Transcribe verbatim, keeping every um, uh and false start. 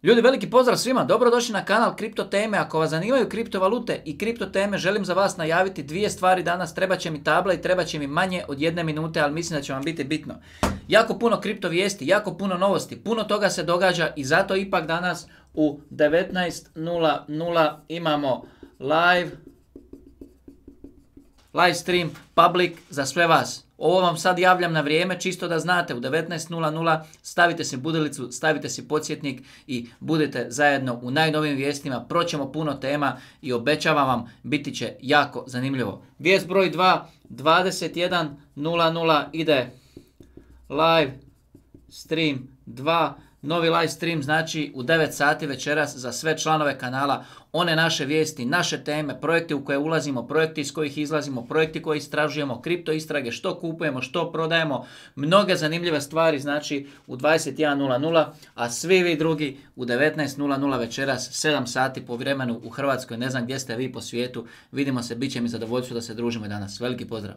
Ljudi, veliki pozdrav svima, dobrodošli na kanal Kripto teme. Ako vas zanimaju kriptovalute i kripto teme, želim za vas najaviti dvije stvari danas. Treba će mi tabla i treba će mi manje od jedne minute, ali mislim da će vam biti bitno. Jako puno kripto vijesti, jako puno novosti, puno toga se događa i zato ipak danas u devetnaest nula nula imamo live, live stream public za sve vas. Ovo vam sad javljam na vrijeme, čisto da znate, u devetnaest nula nula stavite si budilicu, stavite si podsjetnik i budete zajedno u najnovijim vijestima. Proćemo puno tema i obećavam vam, biti će jako zanimljivo. Vijest broj dva, dvadeset jedan nula nula ide live stream dva. Novi live stream znači u devet sati večeras za sve članove kanala. One naše vijesti, naše teme, projekte u koje ulazimo, projekti iz kojih izlazimo, projekti koje istražujemo, kripto istrage, što kupujemo, što prodajemo. Mnoge zanimljive stvari znači u dvadeset jedan nula nula, a svi vi drugi u devetnaest nula nula večeras, sedam sati po vremenu u Hrvatskoj. Ne znam gdje ste vi po svijetu. Vidimo se, bit će mi zadovoljstvo da se družimo danas. Veliki pozdrav!